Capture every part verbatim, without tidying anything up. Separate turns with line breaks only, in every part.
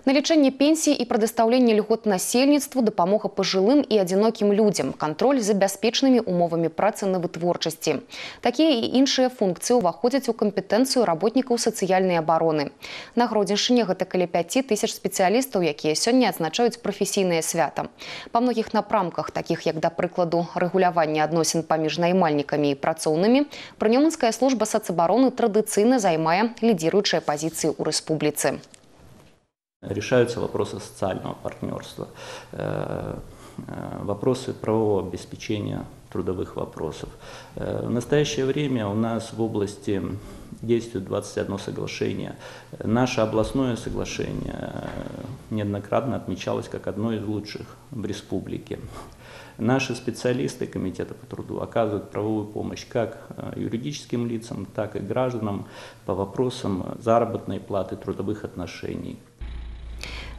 Налічэнне пенсій і прадастаўленне льгот насельніцтву, дапамога пажылым і адзінокім людзям, кантроль за бяспечнымі умовамі працы на вытворчасці. Такія і іншыя функцыі ўваходзяць у кампетэнцыю работнікаў сацыяльнай абароны. На Гродзеншчыне гэта каля пяці тысяч спецыялістаў, якія сёння адзначаюць прафесійнае свята. Па многіх напрамках, такіх як, да прыкладу, рэгуляванне адносін паміж наймальнікамі і працоўнымі, Прынёманская служба сацабароны традыцыйна займае лідзіруючыя пазіцыі ў рэспубліцы.
Решаются вопросы социального партнерства, вопросы правового обеспечения трудовых вопросов. В настоящее время у нас в области действует двадцать одно соглашение. Наше областное соглашение неоднократно отмечалось как одно из лучших в республике. Наши специалисты Комитета по труду оказывают правовую помощь как юридическим лицам, так и гражданам по вопросам заработной платы, трудовых отношений.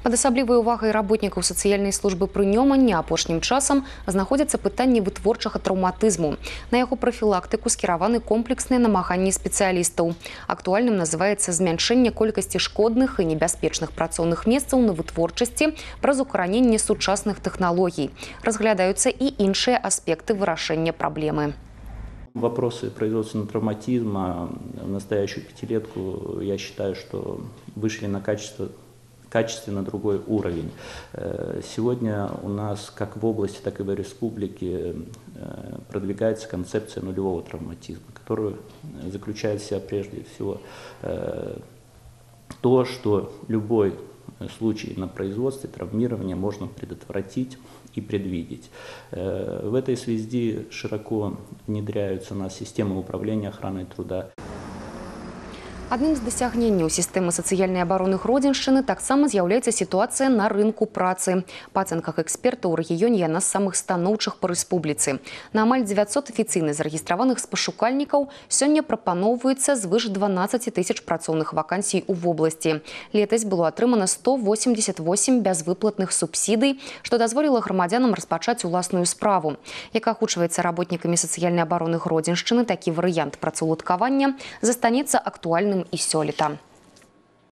Пад асаблівай увагай работнікаў сацыяльнай службы Прынёмання апошнім часам знаходзяцца пытанні вытворчага траўматызму. На яго прафілактыку скіраваны комплексныя намаганні спецыялістаў. Актуальным называецца змяншэнне колькасці шкодных і небяспечных працоўных месцаў на вытворчасці праз укараненне сучасных тэхналогій. Разглядаюцца і іншыя аспекты вырашэння праблемы.
Вопросы производственного травматизма в настоящую пятилетку, я считаю, что вышли на качество качественно другой уровень. Сегодня у нас как в области, так и в республике продвигается концепция нулевого травматизма, которая заключает в себя прежде всего то, что любой случай на производстве травмирования можно предотвратить и предвидеть. В этой связи широко внедряются у нас системы управления охраной труда.
Адным з дасягненняў сістэмы сацыяльнай абароны Гродзеншчыны таксама з'яўляецца сітуацыя на рынку працы. Па ацэнках экспертаў у рэгіёне яна з самых станоўчых па рэспубліцы. На амаль дзевяцьсот афіцыйна зарэгістраваных спашукальнікаў сёння прапаноўваецца звыш дванаццаці тысяч працоўных вакансій у вобласці. Летась было атрымана сто восемьдесят восемь бязвыплатных субсідый, што дазволіла грамадзянам распачаць уласную справу. Як агучваецца работнікамі сацыяльнай абароны Гродзеншчыны, такі варыянт працаўладкавання застанецца актуальным і сёлета.